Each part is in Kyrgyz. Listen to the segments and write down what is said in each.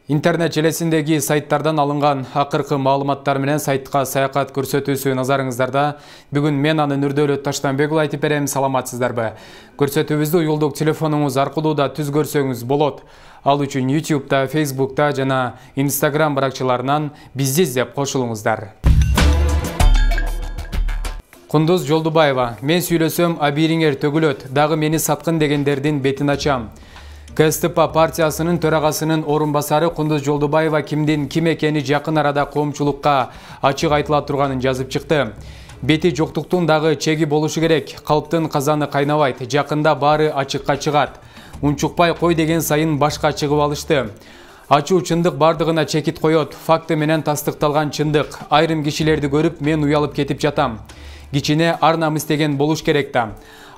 Интернет желесиндеги сайттардан алынган акыркы маалыматтар менен сайтка саякат көрсөтүүсү назарыңыздарда. Бүгүн мен анын Үрдөлү Таштанбек айтып берем. Саламатсыздарбы? Көрсөтүүбүздү уюлдук телефонуңуз аркылуу да түз көрсөңүз болот. Ал үчүн YouTube'да, Facebook'та жана Instagram баракчаларынан бизди издеп кошулуңуздар. Кундуз Жолдубаева: мен сүйлөсөм абийириңер төгүлөт, дагы мени саткын дегендердин бетин ачам. КСТП партиясынын төрагасынын орун басары Кундуз Жолдубаева кимдин ким экени жакын арада коомчулукка ачык айтыла турганын жазып чыкты. Бети жоктуктун дагы чеги болушу керек. Калптын казаны кайнабайт. Жакында баары ачыкка чыгат. Унчукпай кой деген сайын башка чыгып алышты. Ачуу чындык бардыгына чекит коет. Факты менен тастыкталган чындык. Айрым кишилерди көрүп мен уялып кетип жатам. Кичине ар намыс деген болуш керек да.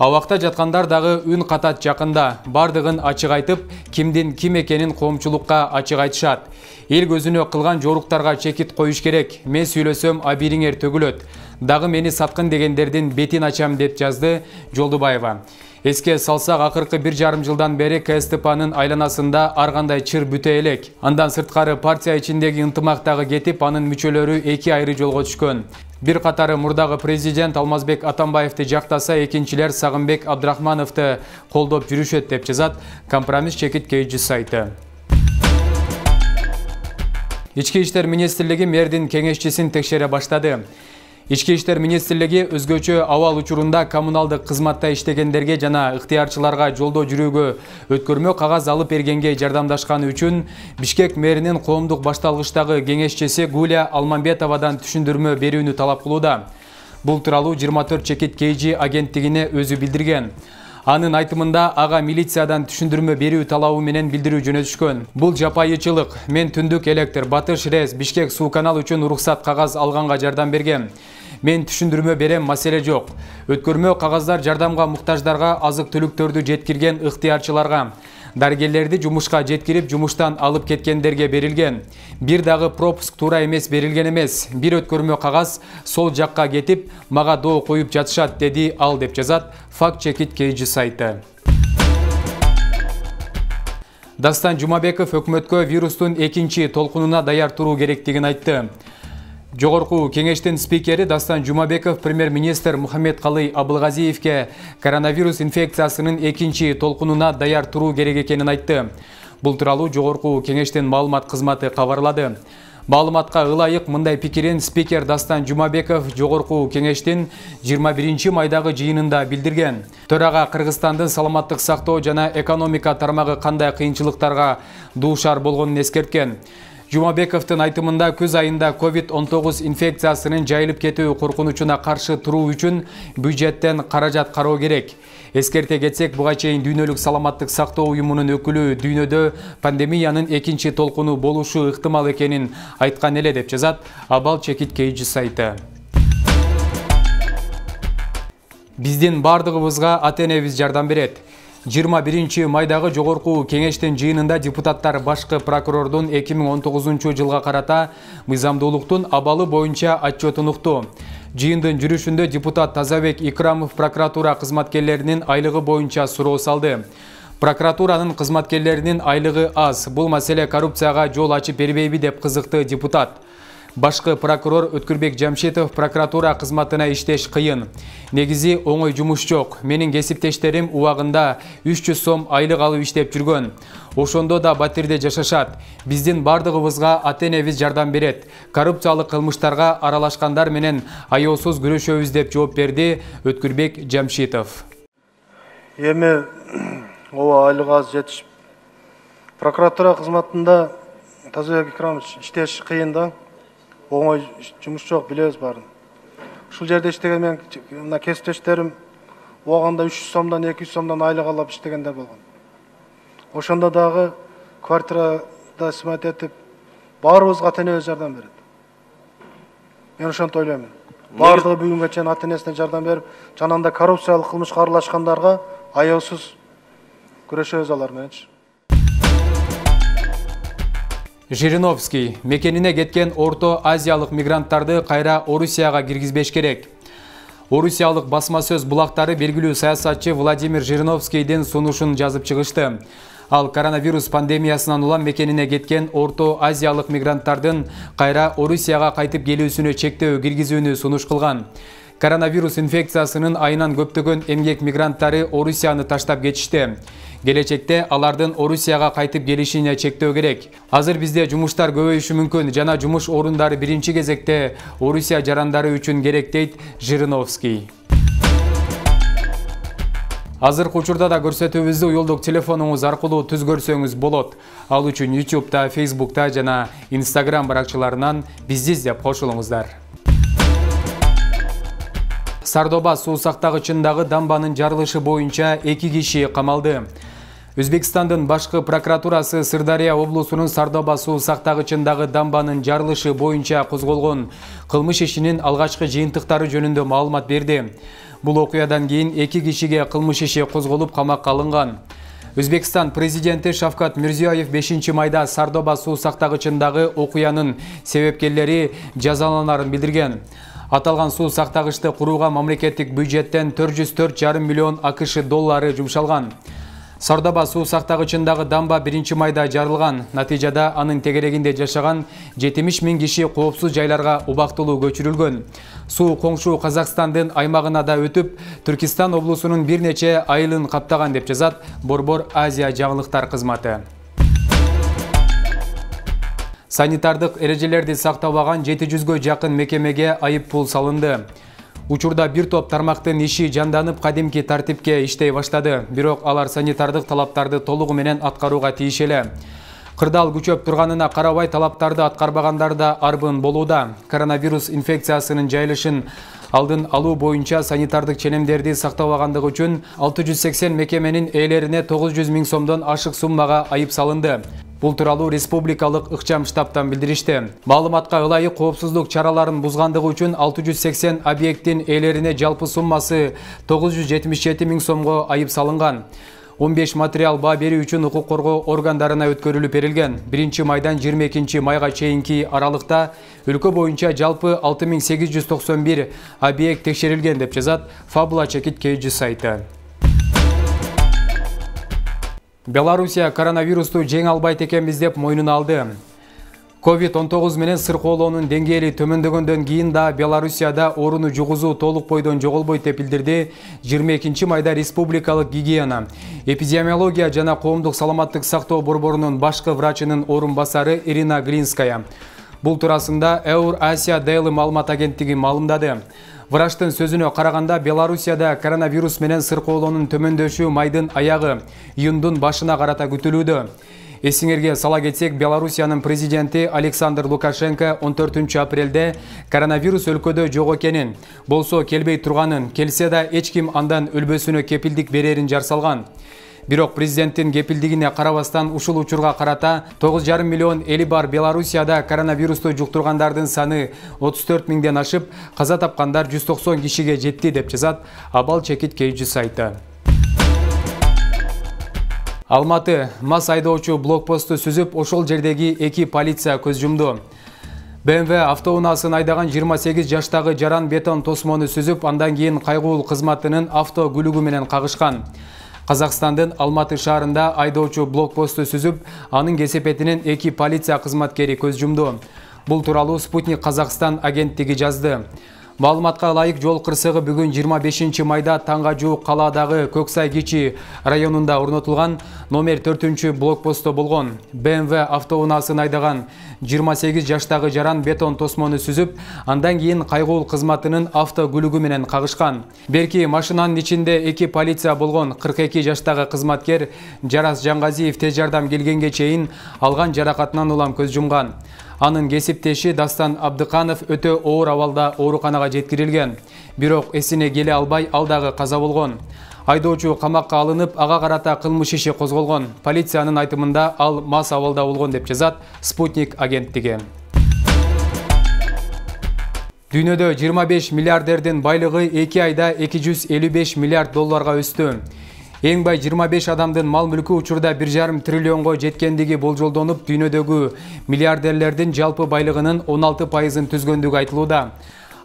Абакта жаткандар дагы үн катат жакында. Бардыгын ачык айтып, кимдин ким экенин коомчулукка ачык айтышат. Эл көзүнө кылган жоруктарга чекит коюш керек. Мен сүйлөсөм абийириңер төгүлөт. Дагы мени саткын дегендердин бетин ачам деп жазды Жолдубаева. Эске салсак, акыркы 1,5 жылдан бери КСТПнын айланасында ар кандай чыр бүтө элек. Андан сырткары партия ичиндеги ынтымак дагы кетип, анын мүчөлөрү эки айры жолго түшкөн. Бир катары мурдагы президент Алмазбек Атамбаевди жактаса, экинчилер Сагынбек Абдрахмановду колдоп жүрүшөт деп жазат Компромисс чекит KG сайты. Ички иштер министрлиги мэрдин кеңешчисин текшере баштады. Ички иштер министрлиги өзгөчө абал учурунда коммуналдык кызматта иштегендерге жана ыктыярчыларга жолдо жүрүүгө өткөрмө кагаз алып бергенге жардамдашканы үчүн Бишкек мэринин коомдук башталгычтагы кеңешчиси Гуля Алмамбетовадан түшүндүрмө берүүнү талап кылууда. Бул тууралуу 24 чекит KG агенттигине өзү билдирген. Анын айтымында ага милициядан түшүндүрмө берүү талабы менен билдирүү жөнөтүшкөн. Бул жапайычылык. Мен Түндүк электр, Батыш РЭС, Бишкек суу канал үчүн уруксат кагаз алганга жардам бергем. Мен түшүндүрмө берем, маселе жок. Өткөрмө кагаздар жардамга муктаждарга, азык-түлүктөрдү жеткирген ыктыярчыларга, дарыгерлерди жумушка жеткирип, жумуштан алып кеткендерге берилген. Бир дагы пропуск туура эмес берилген эмес. Бир өткөрмө кагаз сол жакка кетип, мага доо коюп жатышат, деди ал деп жазат Факт чекит KG сайты. Дастан Жумабеков өкмөткө вирустун экинчи толкунуна даяр туруу керектигин айтты. Жогорку кеңештин спикери Дастан Жумабеков премьер-министр Мухаммедкалый Абылгазиевке коронавирус инфекциясынын экинчи толкунуна даяр туруу керек экенин айтты. Бул тууралуу жогорку кеңештин маалымат кызматы кабарлады. Маалыматка ылайык мындай пикирин спикер Дастан Жумабеков жогорку кеңештин 21 майдагы жыйынында билдирген. Төрага Кыргызстандын саламаттык сактоо жана экономика тармагы кандай кыйынчылыктарга дуушар болгонун эскерткен. Жумабековдун айтымында күз айында COVID-19 инфекциясынын жайылып кетүү коркунучуна каршы туруу үчүн бюджеттен каражат кароо керек. Эскерте кетсек, буга чейин Дүйнөлүк саламаттык сактоо уюмунун өкүлү дүйнөдө пандемиянын экинчи толкуну болушу ыктымал экенин айткан эле деп жазат Абал чекит KG сайты. Биздин бардыгыбызга ата-энебиз жардам берет. 21 майдагы жогорку кеңештин жыйынында депутаттар башкы прокурордун 2019 жылга карата мыйзамдуулуктун абалы боюнча отчетун укту. Жыйындын жүрүшүндө депутат Тазабек Икрамов прокуратура кызматкерлеринин айлыгы боюнча суроо салды. Прокуратуранын кызматкерлеринин айлыгы аз. Бул маселе коррупцияга жол ачып бербейби деп кызыкты депутат. Башкы прокурор Өткүрбек Жамшитов прокуратура кызматына иштеш кыйын. Негизи оңой жумуш жок. Менин кесиптештерим убагында 300 сом айлык алып иштеп жүргөн. Ошондо да батирде жашашат. Биздин бардыгыбызга ата-энебиз жардам берет. Коррупциялык кылмыштарга аралашкандар менен аяосуз күрөшөбүз деп жооп берди Өткүрбек Жамшитов. Эми ооба айлык аз жетишип. Прокуратура кызматында Тазабек Икрамович иштеш кыйын да. Оңой жумуш жок, билебиз баарын. Ушул жерде иштеген мен мына кесиптештерим убагында 300 сомдон 200 сомдон айлык алып иштегендер болгон. Ошондо дагы квартирада сымат этип баарыбызга ата-энебиз жардам берет. Мен ошонтип ойлойм. Баардыгы бүгүнгө чейин ата-энесине жардам берип, жанагындай коррупциялык кылмышка аралашкандарга аяосуз күрөшөбүз алар мененчи. Жириновский мекенине кеткен Орто Азиялык мигранттарды кайра Орусияга киргизбеш керек. Орусиялык басма сөз булактары белгилүү саясатчы Владимир Жириновскийдин сунушун жазып чыгышты. Ал коронавирус пандемиясынан улам мекенине кеткен Орто Азиялык мигранттардын кайра Орусияга кайтып келүүсүнө чектөө киргизүүнү сунуш кылган. Коронавирус инфекциясынын айынан көптөгөн эмгек мигранттары Орусияны таштап кетишти. Келечекте алардын Орусияга кайтып келишине чектөө керек. Азыр бизде жумуштар көбөйүшү мүмкүн жана жумуш орундары биринчи кезекте Орусия жарандары үчүн керек, дейт Жириновский. Азыркы учурда да көрсөтүүбүздү уюлдук телефонуңуз аркылуу түз көрсөңүз болот. Ал үчүн YouTube'да, Facebook'та жана Instagram баракчаларынан бизди издеп кошулуңуздар. Сардоба суу сактагычындагы дамбанын жарылышы боюнча 2 киши камалды. Өзбекстандын башкы прокуратурасы Сырдария облусунун Сардоба суу сактагычындагы дамбанын жарылышы боюнча козголгон кылмыш ишинин алгачкы жыйынтыктары жөнүндө маалымат берди. Бул окуядан кийин 2 кишиге кылмыш иши козголуп камакка алынган. Өзбекстан президенти Шавкат Мирзиёев 5-майда Сардоба суу сактагычындагы окуянын себепкерлери жазаланарын билдирген. Аталган суу сактагычты курууга мамлекеттик бюджеттен 404,5 миллион АКШ доллары жумшалган. Сардоба суу сактагычындагы дамба 1-майда жарылган. Натыйжада анын тегерегинде жашаган 70 000 киши коопсуз жайларга убактылуу көчүрүлгөн. Суу коңшу Казакстандын аймагына да өтүп, Түркистан облусунун бир нече айылын каптаган деп жазат Борбор Азия жаңылыктар кызматы. Санитардык эрежелерди сактабаган 700гө жакын мекемеге айып пул салынды. Учурда бир топ тармактын иши жанданып кадимки тартипке иштей баштады, бирок алар санитардык талаптарды толугу менен аткарууга тийиш эле. Кырдаал күчөп турганына карабай талаптарды аткарбагандар да арбын болууда. Коронавирус инфекциясынын жайылышын алдын алуу боюнча санитардык ченемдерди сактабагандыгы үчүн 680 мекеменин ээлерине 900 000 сомдон ашык суммага айып салынды. Бул тууралуу республикалык ыкчам штабтан билдиришти. Маалыматка ылайык коопсуздук чараларын бузгандыгы үчүн 680 объекттин ээлерине жалпы суммасы 977 000 сомго айып салынган. 15 материал баа берүү үчүн укук коргоо органдарына өткөрүлүп берилген. 1-майдан 22 майга чейинки аралыкта өлкө боюнча жалпы 6891 объект текшерилген деп жазат Fabula Chekit KG сайты. Белоруссия коронавирусту жеңе албайт экенбиз деп мойнуна алды. COVID-19 менен сыркоолоонун деңгээли төмөндөгөндөн кийин да Белоруссияда ооруну жугузуу толук бойдон жоголбойт деп билдирди 22 майда республикалык гигиена, эпидемиология жана коомдук саламаттык сактоо борборунун башкы врачынын орун басары Ирина Глинская. Бул туурасында Eur Asia Daily маалымат агенттиги маалымдады. Врачтын сөзүнө караганда Белоруссияда коронавирус менен сыркоолоонун төмөндөшү майдын аягы, июндун башына карата күтүлүүдө. Эсиңерге сала кетсек, Белоруссиянын президенти Александр Лукашенко 14 апрелде коронавирус өлкөдө жок экенин, болсо келбей турганын, келсе да эч ким андан өлбөсүнө кепилдик берерин жар салган. Бирок президенттин кепилдигине карабастан ушул учурга карата 9,5 миллион эли бар Белоруссияда коронавирусту жуктургандардын саны 34 000ден ашып, каза тапкандар 190 кишиге жетти деп жазат Абал Чекит KG сайты. Алматы мас айдоочу блокпосту сүзүп, ошол жердеги 2 полиция көз жумду. BMW автоунаасын айдаган 28 жаштагы жаран бетон тосмону сүзүп, андан кийин кайгуул кызматынын авто күлүгү менен кагышкан. Казакстандын Алматы шаарында айдоочу блокпосту сүзүп, анын кесепетинен 2 полиция кызматкери көз жумду. Бул тууралуу Спутник Казакстан агенттиги жазды. Маалыматка ылайык, жол кырсыгы бүгүн 25 майда таңга жуук калаадагы Көксай Кичи районунда орнотулган номер 4 блокпостто болгон. BMW автоунаасын айдаган 28 жаштагы жаран бетон тосмону сүзүп, андан кийин кайгуул кызматынын авто күлүгү менен кагышкан. Берки машинанын ичинде 2 полиция болгон. 42 жаштагы кызматкер Жарас Жангазиев тез жардам келгенге чейин алган жаракатынан улам көз жумган. Анын кесиптеши Дастан Абдыканов өтө оор абалда ооруканага жеткирилген. Бирок эсине келе албай, ал дагы каза болгон. Айдоочу камакка алынып, ага карата кылмыш иши козголгон. Полициянын айтымында ал мас абалда болгон деп жазат Спутник агенттиги. Дүйнөдө 25 миллиардердин байлыгы 2 айда 255 миллиард долларга өстү. Эң бай 25 адамдын мал мүлкү учурда 1,5 триллионго жеткендиги болжолдонуп, дүйнөдөгү миллиардерлердин жалпы байлыгынын 16%-ын түзгөндүгү айтылууда.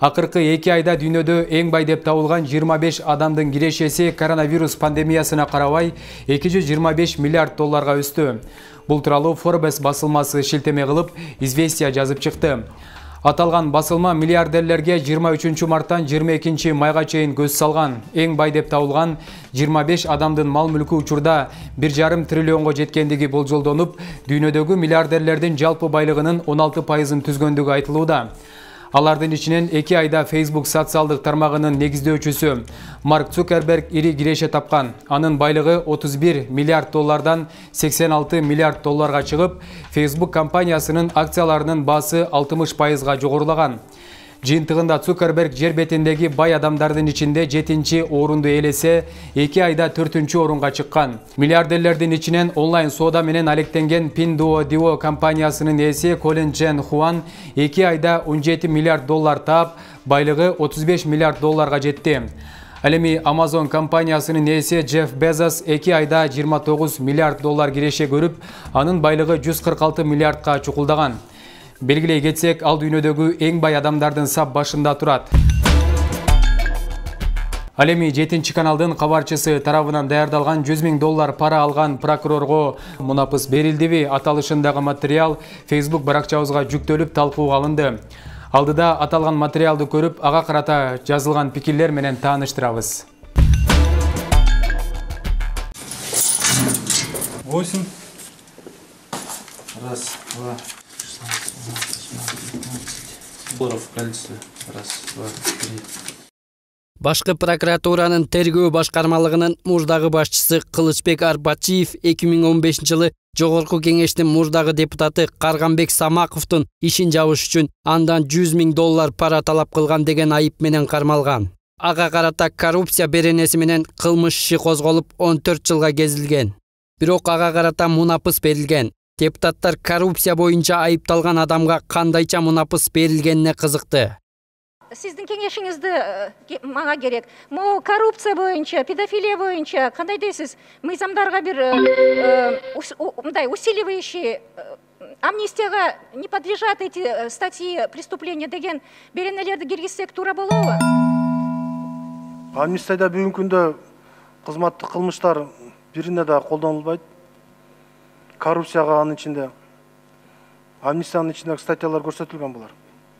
Акыркы 2 айда дүйнөдө эң бай деп табылган 25 адамдын кирешеси коронавирус пандемиясына карабай 225 миллиард долларга өстү. Бул тууралуу Forbes басылмасы шилтеме кылып, известия жазып чыкты. Аталган басылма миллиардерлерге 23 марттан 22 майга чейин көз салган. Эң бай деп табылган 25 адамдын мал-мүлкү учурда 1,5 триллионго жеткендиги болжолдонуп, дүйнөдөгү миллиардерлердин жалпы байлыгынын 16%-ын түзгөндүгү айтылууда. Алардын ичинен 2 айда Facebook социалдык тармагынын негиздөөчүсү Марк Цукерберг ири киреше тапкан. Анын байлыгы 31 миллиард доллардан 86 миллиард долларга чыгып, Facebook компаниясынын акцияларынын баасы 60%-га жогорулаган. Жыйынтыгында Цукерберг жер бетиндеги бай адамдардын ичинде 7-орунду ээлесе, 2 айда 4-орунга чыккан. Миллиардерлердин ичинен онлайн соода менен алектенген Pinduoduo компаниясынын ээси Колин Чен Хуан 2 айда 17 миллиард доллар таап, байлыгы 35 миллиард долларга жетти. Ал эми Amazon компаниясынын ээси Джефф Безос 2 айда 29 миллиард доллар киреше көрүп, анын байлыгы 146 миллиардка чукулдаган. Белгилей кетсек, ал дүйнөдөгү эң бай адамдардын сап башында турат. Ал эми 7 каналдын кабарчысы тарабынан даярдалган 100 000 доллар пара алган прокурорго мунапыс берилдиби аталышындагы материал Facebook баракчабызга жүктөлүп талкууга алынды. Алдыда аталган материалды көрүп, ага карата жазылган пикирлер менен тааныштырабыз. 8. Раз, два. В количестве. Раз, два, три. Башкы прокуратуранын тергөө башкармалыгынын мурдагы башчысы Кылычбек Арбачиев 2015-жылы Жогорку кеңештин мурдагы депутаты Карганбек Самаковдун ишин жабыш үчүн андан 100 000 доллар пара талап кылган деген айып менен кармалган. Ага карата коррупция беренеси менен кылмыш иши козголуп 14 жылга кезилген. Бирок ага карата мунапыс берилген. Депутаттар коррупция боюнча айыпталган адамга кандайча мунапыс берилгенине кызыкты. Сиздин кеңешиңизди мага керек. Могу коррупция боюнча, педофилия боюнча кандай дейсиз? Мыйзамдарга бир мындай усиливающий амнистияга не подлежат эти статьи преступления деген беренелерди киргизсек туура болобу? Амнистияда бүгүнкү күндө кызматтык кылмыштар бирине да колдонулбайт. Коррупцияга анын ичинде амнистиянын ичиндеги статьялар көрсөтүлгөн булар.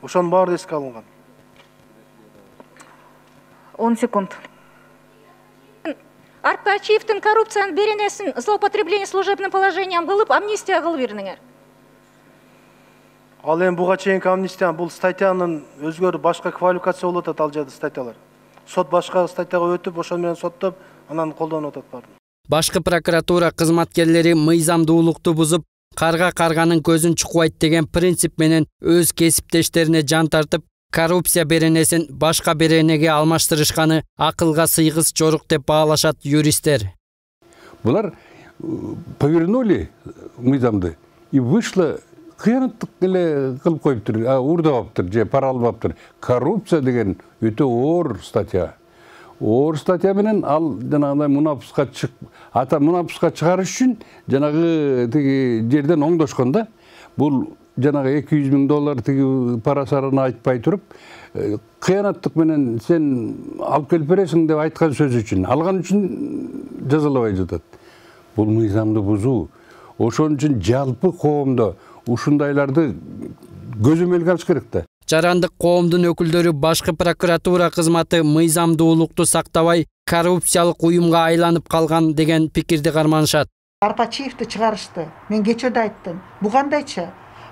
Ошонун баары эске алынган. 10 секунд. Арбачиевдин коррупциянын беренесин злоупотребление служебным положением кылып, амнистия кылып бериңер. Ал эми буга чейинки амнистия бул статьянын өзгөрүп башка квалификация болуп атат ал жерде статьялар. Сот башка статьяга өтүп, ошол менен соттоп, анан колдонуп атат баарын. Башкы прокуратура кызматкерлери мыйзамдуулукту бузуп, карга карганын көзүн чукпайт деген принцип менен өз кесиптештерине жан тартып, коррупция беренесин башка беренеге алмаштырышканы акылга сыйгыс жорук деп баалашат юристтер. Булар повернули мыйзамды и вышло кыянаттык эле кылып коюптур, урдабаптыр же пара албаптыр. Коррупция деген өтө оор статья. Оор статья менен ал жанагындай мунапыска чыгарыш үчүн жанагы тиги жерден оңдошкон да. Бул жанагы 200 000 доллар тиги парасарын айтпай туруп, кыянаттык менен сен алып келип бересиң деп айткан сөз үчүн, алган үчүн жазалабай жатат. Бул мыйзамды бузуу. Ошон үчүн жалпы коомдо ушундайларды көзөмөлгө алыш керек да. Жарандык коомдун өкүлдөрү башкы прокуратура кызматы мыйзамдуулукту сактабай, коррупциялык уюмга айланып калган деген пикирди карманышат. Арбачиевди чыгарышты. Мен кечеде айттым. Бу кандайча?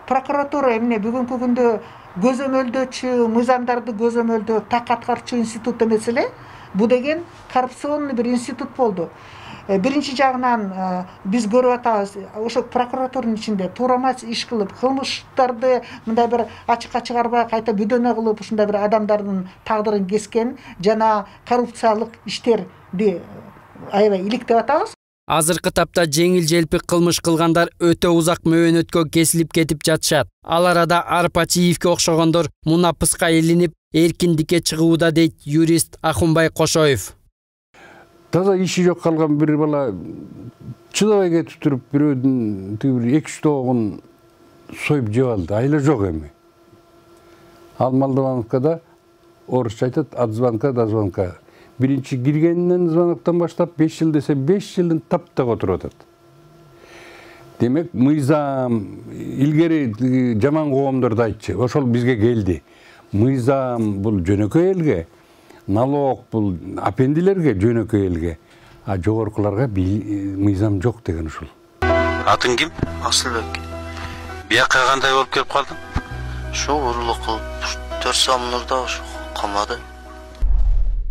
Прокуратура эмне бүгүнкү күндө көзөмөлдөөчү, мыйзамдарды көзөмөлдөө так аткарчу институт эмес эле. Бу деген коррупционный бир институт болду. Биринчи жагынан биз көрүп атабыз, ошо прокуратуранын ичинде туура иш кылып, кылмыштарды мындай бир ачыкка чыгарбай кайта бүдөнө кылып, ушундай бир адамдардын тагдырын кескен жана коррупциялык иштерди аябай иликтеп атабыз. Азыркы тапта жеңил-желпи кылмыш кылгандар өтө узак мөөнөткө кесилип кетип жатышат. Ал арада Арпачиевке окшогондор мунапыска илинип, эркиндикке чыгууда дейт юрист Ахунбай Кошоев. Таза иши жок калган бир бала чыдабай кетип туруп, бирөөдүн тиги 2-3 тоогун союп жеп алды. Айла жок эми. Ал Молдовановкада орусча айтат от звонка до звонка. Биринчи киргенинен звоноктон баштап 5 жыл десе 5 жылын таптак отуруп атат. Демек, мыйзам илгери жаман коомдорду айтчы. Ошол бизге келди. Мыйзам бул жөнөкөй элге, налог бул апендилерге жөнөкөй элге, а жогоркуларга мыйзам жок деген ушул. Атың ким? Асылбек. Бияка кандай болуп келип калдың? Шо уруулук кылып 4 самнурда камады.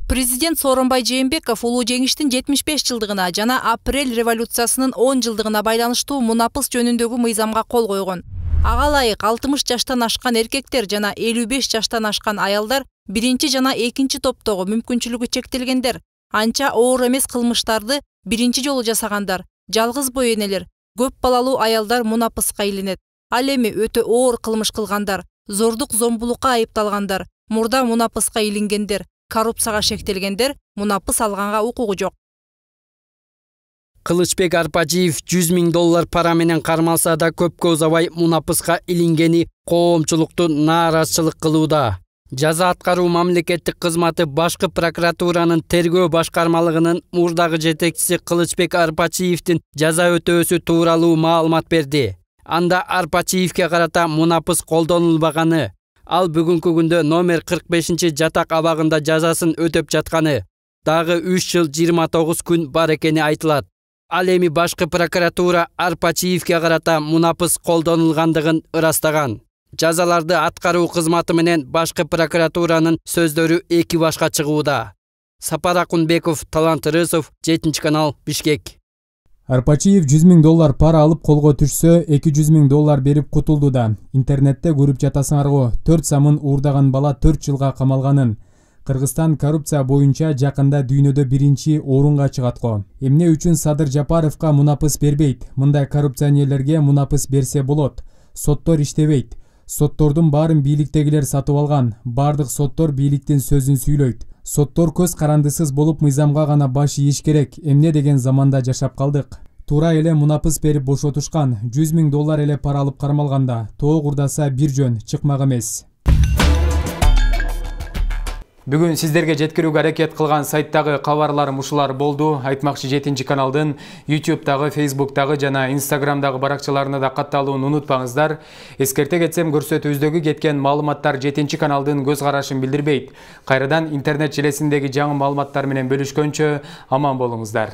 Президент Сооронбай Жээнбеков улуу жеңиштин 75 жылдыгына жана апрель революциясынын 10 жылдыгына байланыштуу мунапыс жөнүндөгү мыйзамга кол койгон. Ага ылайык 60 жаштан ашкан эркектер жана 55 жаштан ашкан аялдар биринчи жана экинчи топтогу мүмкүнчүлүгү чектелгендер, анча оор эмес кылмыштарды биринчи жолу жасагандар, жалгыз бой энелер, көп балалуу аялдар мунапыска илинет. Ал эми өтө оор кылмыш кылгандар, зордук зомбулукка айыпталгандар, мурда мунапыска илингендер, коррупцияга шектелгендер мунапыс алганга укугу жок. Кылычбек Арпачиев $100,000 пара менен кармалса да көпкө узабай мунапыска илингени коомчулукту нааразычылык кылууда. Жаза аткаруу мамлекеттик кызматы башкы прокуратуранын тергөө башкармалыгынын мурдагы жетекчиси Кылычбек Арпачиевдин жаза өтөөсү тууралуу маалымат берди. Анда Арпачиевке карата мунапыс колдонулбаганы, ал бүгүнкү күндө номер 45 жатак абагында жазасын өтөп жатканы, дагы 3 жыл 29 күн бар экени айтылат. Ал эми башкы прокуратура Арпачиевке карата мунапыс колдонулгандыгын ырастаган. Жазаларды аткаруу кызматы менен башкы прокуратуранын сөздөрү эки башка чыгууда. Сапар Акунбеков, Талант Рысов, 7-канал, Бишкек. Арпачиев $100,000 пара алып колго түшсө, $200,000 берип кутулду да. Интернетте көрүп жатасыңарго, 4 самын уурдаган бала 4 жылга камалганын. Кыргызстан коррупция боюнча жакында дүйнөдө биринчи орунга чыгат го. Эмне үчүн Садыр Жапаровго мунапыс бербейт? Мындай коррупционерлерге мунапыс берсе болот. Соттор иштебейт. Соттордун баарын бийликтегилер сатып алган. Бардык соттор бийликтин сөзүн сүйлөйт. Соттор көз карандысыз болуп мыйзамга гана баш ийиш керек. Эмне деген заманда жашап калдык. Туура эле мунапыс берип бошотушкан. $100,000 эле пара алып кармалганда. Тоо курдаса бир жөн, чыкмак эмес. Бүгүн сиздерге жеткирүүгө аракет кылган сайттагы кабарларым ушулар болду. Айтмакчы 7-каналдын YouTube'дагы, Facebook'дагы жана Instagram'дагы баракчаларына да катталууну унутпаңыздар. Эскерте кетсем, көрсөтүүбүздөгү кеткен маалыматтар 7-каналдын көз карашын билдирбейт. Кайрадан интернет желесиндеги жаңы маалыматтар менен бөлүшкөнчө аман болуңуздар.